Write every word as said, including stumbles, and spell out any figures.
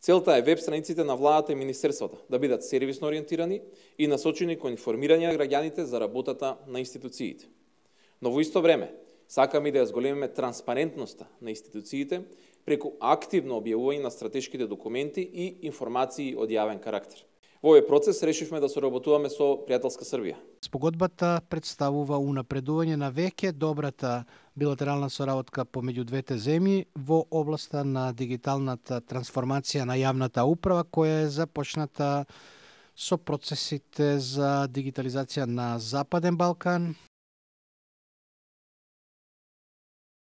Целта е веб страниците на владата и министерствата да бидат сервисно ориентирани и насочени кон информирање на граѓаните за работата на институциите. Но во исто време, сакаме да ја зголемиме транспарентноста на институциите преку активно објавување на стратешките документи и информации од јавен карактер. Во овој процес решивме да соработуваме со пријателска Србија. Спогодбата представува унапредување на веќе добрата билатерална соработка помеѓу двете земји во областа на дигиталната трансформација на јавната управа, која е започната со процесите за дигитализација на Западен Балкан